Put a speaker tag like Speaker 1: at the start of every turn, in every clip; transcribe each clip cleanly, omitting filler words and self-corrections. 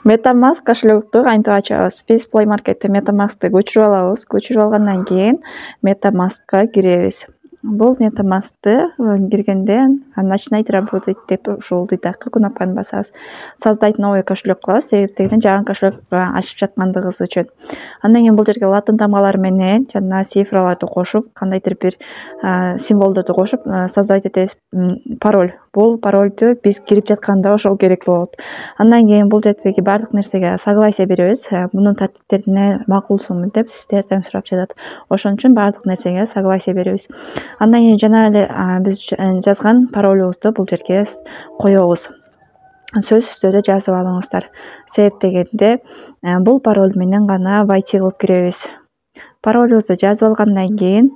Speaker 1: MetaMask кошелекту кантип ачабыз? Биз Play Market'te MetaMask'ты көчүрүп алабыз. Көчүрүп алгандан кийин MetaMask'ка киребиз. Бул MetaMask'ты киргенде начинать работать деп ушул титакы кнопканы басабыз. Создать новый кошелек кылабыз, себептен жаңы кошелек ачып жаткандыгыбыз үчүн. Андан кийин бул жерге латын тамгалары менен жана цифраларды кошуп, кандайдыр бир символдорду кошуп создавать этебиз. Пароль. Бул парольду биз кирип жатканда ошол керек болот. Андан кийин бул жердеги бардык нерсеге согласие беребиз. Мунун тартиптерине макулсуңбу деп сиздерден сурап жатат. Ошон үчүн бардык нерсеге согласие беребиз. Андан кийин жана эле биз жазган паролубузду бул жерге коебуз. Сөзсүздөрдө жазып алыңыздар. Себеп дегенде бул пароль менен гана войти кылып киребиз. Паролубузду жазып алгандан кийин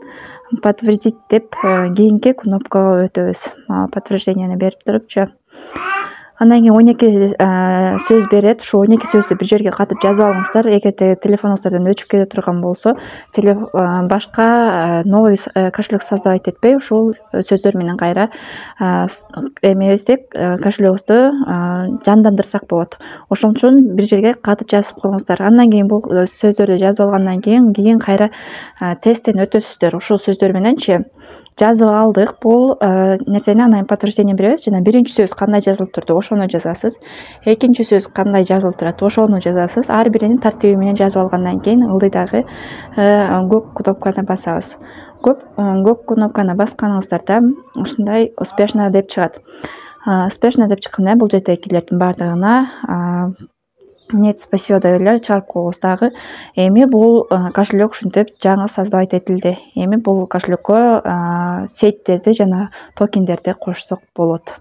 Speaker 1: подтвердить деп кийинки кнопкага өтөбүз. Подтверждениени берип турупчу. Андан кийин 12 сөз берет. Ошо 12 сөздү бир жерге катып жазып алыңыздар. Эгерде телефонуңуздардан өчүп кете турган болсо, башка новый кошелек создавать этпей, ушул сөздөр менен кайра эмебиздик кошелегибизди жандандырсак болот. Ошон үчүн бир жерге катып жазып коюңуздар. Андан кийин бул сөздөрдү жазып алгандан кийин кайра тесттен өтөсүздөр. Ушул сөздөр мененчи жазып алдык бул нерсени, анан подтверждение беребиз. Жана биринчи сөз кандай жазылып турду, ошону жазасыз. Экинчи сөз кандай жазылып турат, ошону жазасыз. Ар биринин тартиби менен жазып алгандан кийин ылдыйдагы көк кнопканы басабыз. Көк кнопканы басканыңыздарда ушундай успешно деп чыгат. Успешно деп чыкканда бул жердегилердин бардыгына нет, спасибо деп эле чыгарып коебуз дагы. Эми бул кошелек ушинтип жаңы создавать этилди. Эми бул кошелеккө сетьтерди жана токендерди кошсок болот.